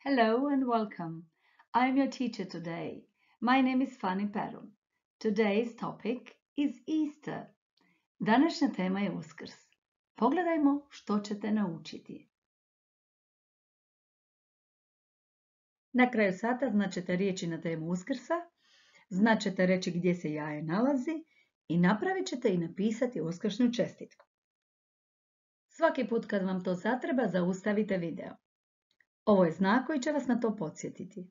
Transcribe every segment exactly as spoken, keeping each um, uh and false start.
Hello and welcome. I'm your teacher today. My name is Fanny Perun. Today's topic is Easter. Današnja tema je Uskrs. Pogledajmo što ćete naučiti. Na kraju sata značete riječi na temu Uskrsa, značete reći gdje se jaje nalazi i napravit ćete i napisati uskršnju čestitku. Svaki put kad vam to zatreba, zaustavite video. Ovo je znak koji će vas na to podsjetiti.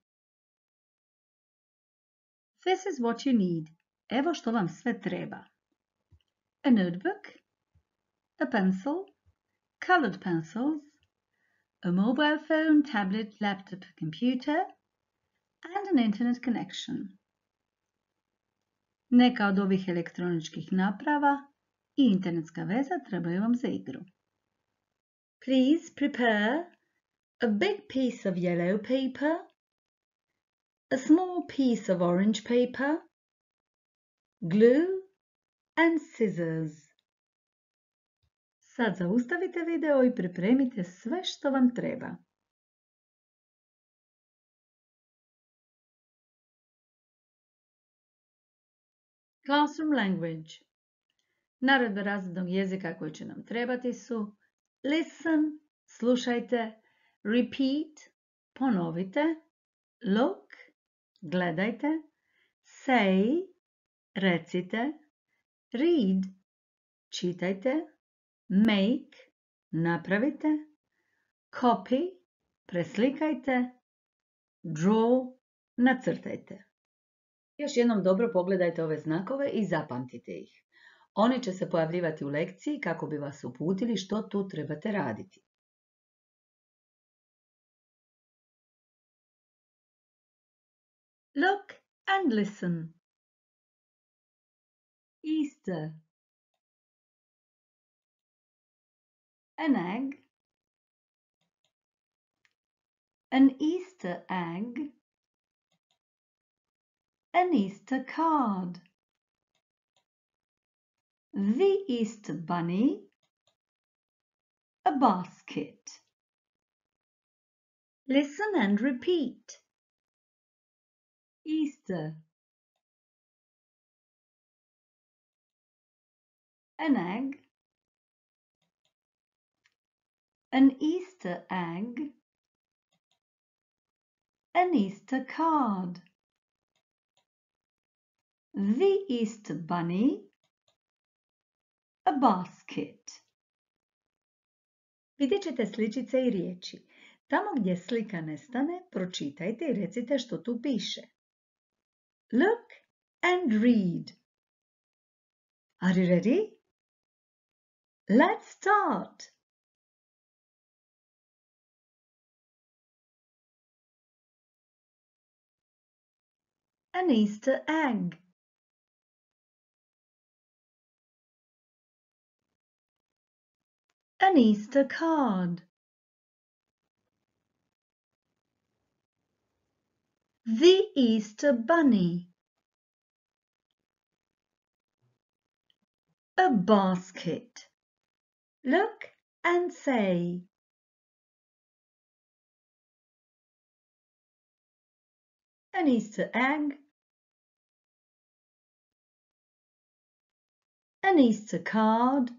This is what you need. Evo što vam sve treba. A notebook, a pencil, colored pencils, a mobile phone, tablet, laptop, computer, and an internet connection. Neka od ovih elektroničkih naprava i internetska veza trebaju vam za igru. Please prepare a big piece of yellow paper, a small piece of orange paper, glue and scissors. Sad zaustavite video i pripremite sve što vam treba. Classroom language. Naredbe razrednog jezika koji će nam trebati su listen, slušajte, repeat, ponovite, look, gledajte, say, recite, read, čitajte, make, napravite, copy, preslikajte, draw, nacrtajte. Još jednom dobro pogledajte ove znakove i zapamtite ih. Oni će se pojavljivati u lekciji kako bi vas uputili što tu trebate raditi. Look and listen. Easter. An egg. An Easter egg. An Easter card. The Easter bunny. A basket. Listen and repeat. Easter. An egg. An Easter egg. An Easter card. The Easter bunny. A basket. Vidjet ćete sličice i riječi. Tamo gdje slika nestane, pročitajte i recite što tu piše. Look and read. Are you ready? Let's start. An Easter egg. An Easter card. The Easter bunny. A basket. Look and say. An Easter egg. An Easter card.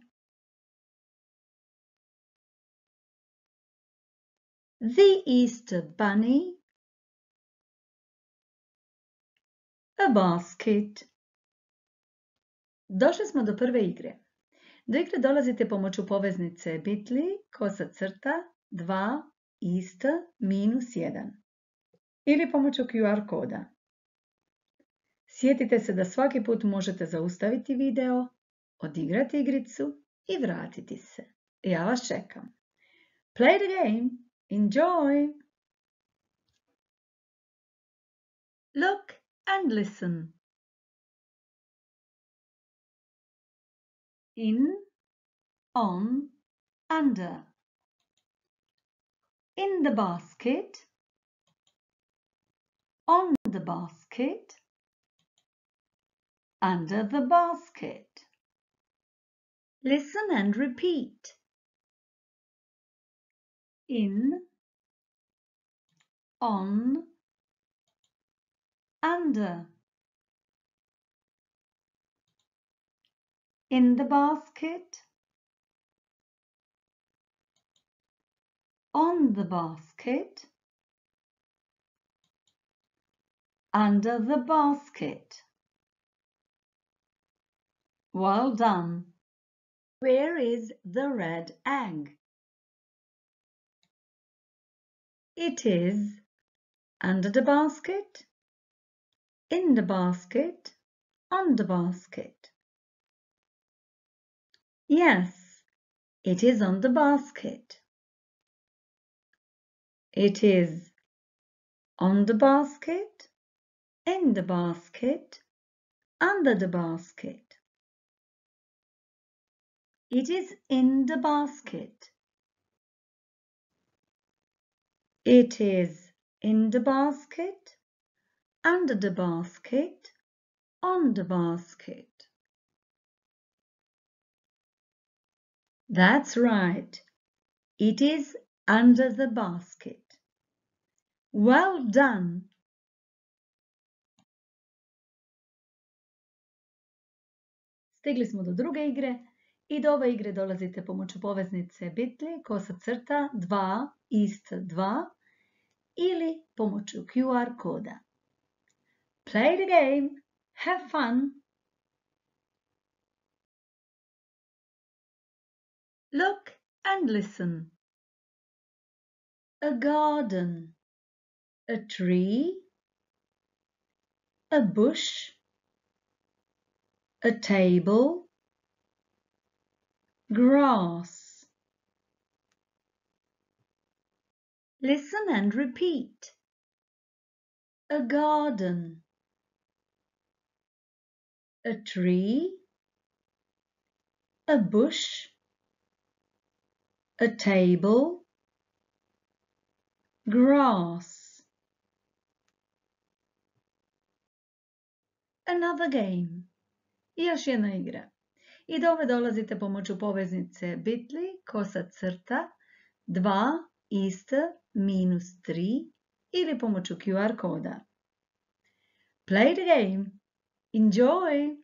The Easter bunny. A basket. Došli smo do prve igre. Do igre dolazite pomoću poveznice bit.ly kosa crta dva Easter minus jedan ili pomoću Q R koda. Sjetite se da svaki put možete zaustaviti video, odigrati igricu i vratiti se. Ja vas čekam. Play the game. Enjoy! Look and listen. In, on, under. In the basket. On the basket. Under the basket. Listen and repeat. In, on, under. In the basket, on the basket, under the basket. Well done. Where is the red egg? It is under the basket, in the basket, on the basket. Yes, it is on the basket. It is on the basket, in the basket, under the basket. It is in the basket. It is in the basket, under the basket, on the basket. That's right. It is under the basket. Well done. Stigli smo do druge igre i do ove igre dolazite pomoću poveznice bitly, kosa crta, dva, ist, dva ili pomoću Q R koda. Play the game. Have fun. Look and listen. A garden, a tree, a bush, a table, grass. Listen and repeat. A garden, a tree, a bush, a table, grass. Another game. I još jedna igra. I do ove dolazite pomoću poveznice bitly, kosa crta, dva, ist, minus tri ili pomoću Q R koda. Play the game. Enjoy!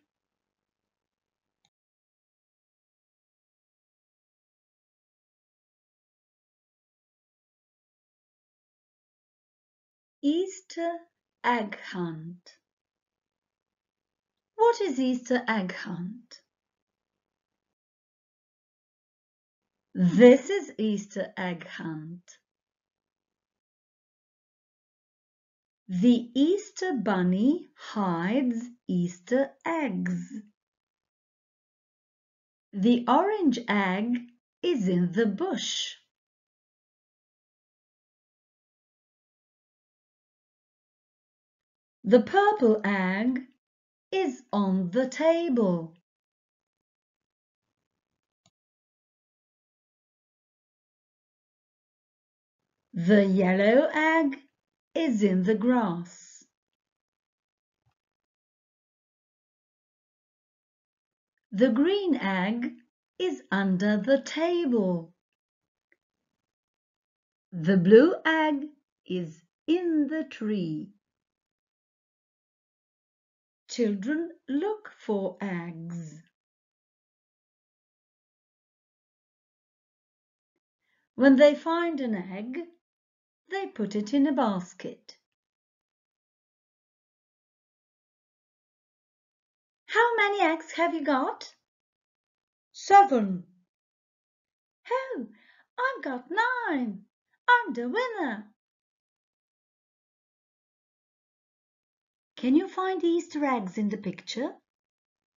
Easter egg hunt. What is Easter egg hunt? This is Easter egg hunt. The Easter bunny hides Easter eggs. The orange egg is in the bush. The purple egg is on the table. The yellow egg is in the grass. The green egg is under the table. The blue egg is in the tree. Children look for eggs. When they find an egg, they put it in a basket. How many eggs have you got? Seven. Oh, I've got nine. I'm the winner. Can you find Easter eggs in the picture?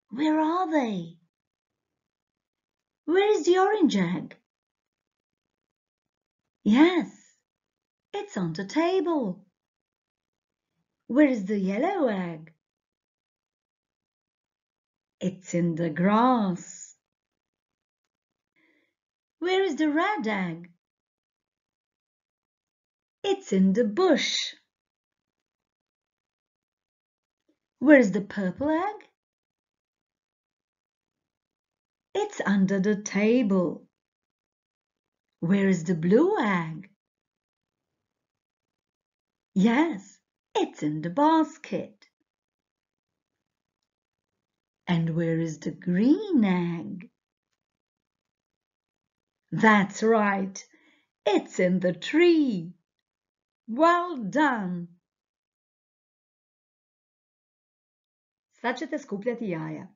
Where are they? Where is the orange egg? Yes, it's on the table. Where is the yellow egg? It's in the grass. Where is the red egg? It's in the bush. Where is the purple egg? It's under the table. Where is the blue egg? Yes, it's in the basket. And where is the green egg? That's right, it's in the tree. Well done! Sad ćete skupljati jaja.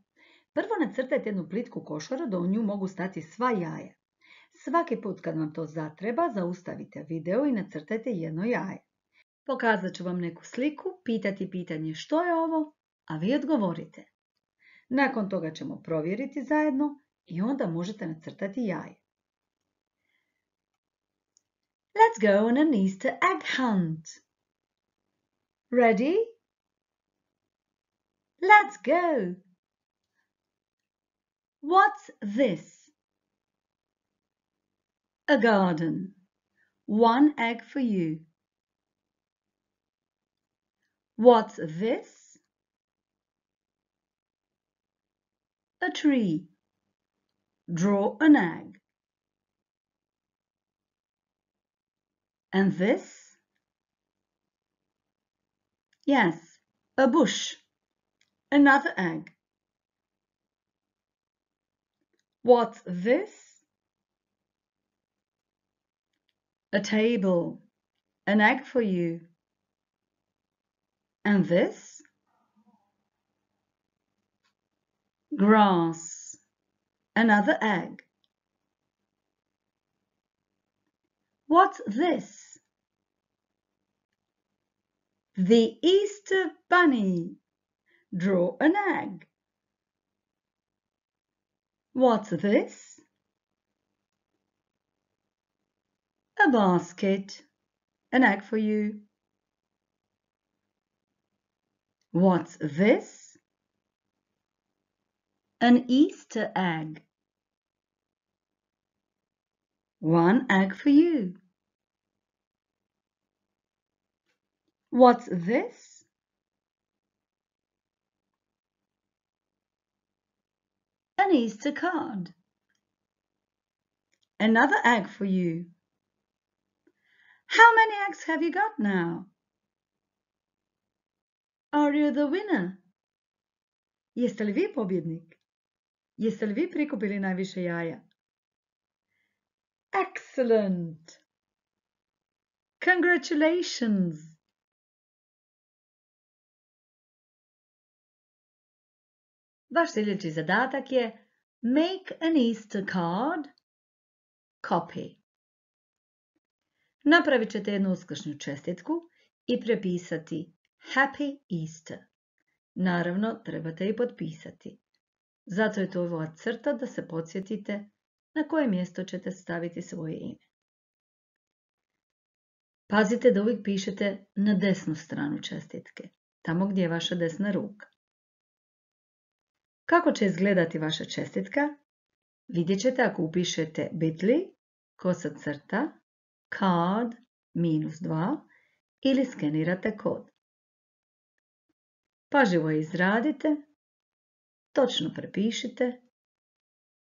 Prvo nacrtajte jednu plitku košaru da u nju mogu stati sva jaja. Svaki put kad vam to zatreba, zaustavite video i nacrtajte jedno jaje. Pokazat ću vam neku sliku, pitati pitanje što je ovo, a vi odgovorite. Nakon toga ćemo provjeriti zajedno i onda možete nacrtati jaje. Let's go on an Easter egg hunt. Ready? Let's go! What's this? A garden. One egg for you. What's this? A tree. Draw an egg. And this? Yes, a bush. Another egg. What's this? A table. An egg for you. And this? Grass. Another egg. What's this? The Easter Bunny. Draw an egg. What's this? A basket. An egg for you. What's this? An Easter egg. One egg for you. What's this? An Easter card. Another egg for you. How many eggs have you got now? Are you the winner? Jeste li vi pobjednik? Jeste li vi prikupili najviše jaja? Excellent! Congratulations! Vaš sljedeći zadatak je Make an Easter card, copy. Napravit ćete jednu uskršnju čestitku i prepisati Happy Easter. Naravno, trebate i potpisati. Zato je to ova crta da se podsjetite na koje mjesto ćete staviti svoje ime. Pazite da uvijek pišete na desnu stranu čestitke, tamo gdje je vaša desna ruka. Kako će izgledati vaša čestitka? Vidjet ćete ako upišete bit.ly, kosa crta, card, minus dva ili skenirate kod. Pažljivo je izradite, točno prepišite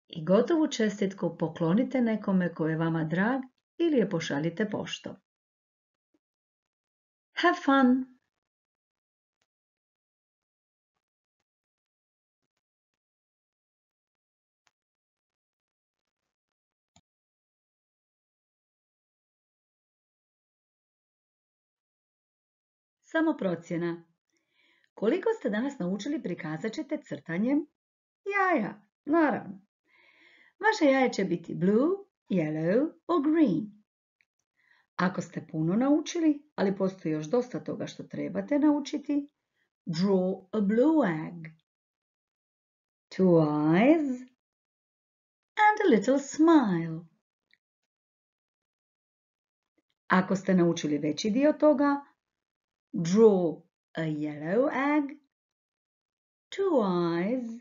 i gotovu čestitku poklonite nekome ko je vama drag ili je pošaljite poštom. Have fun! Samo procjena. Koliko ste danas naučili prikazat ćete crtanjem jaja, naravno. Vaše jaje će biti blue, yellow or green. Ako ste puno naučili, ali postoji još dosta toga što trebate naučiti, draw a blue egg. Two eyes and a little smile. Ako ste naučili veći dio toga, draw a yellow egg, two eyes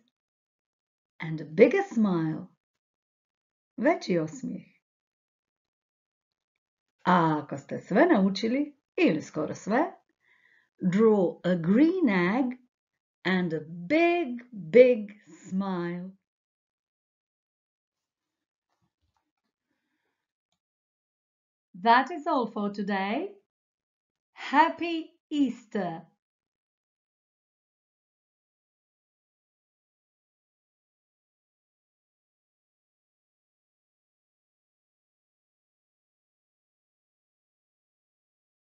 and a bigger smile. Veći osmijeh. A ako ste sve naučili, ili skoro sve, draw a green egg and a big, big smile. That is all for today. Happy Easter!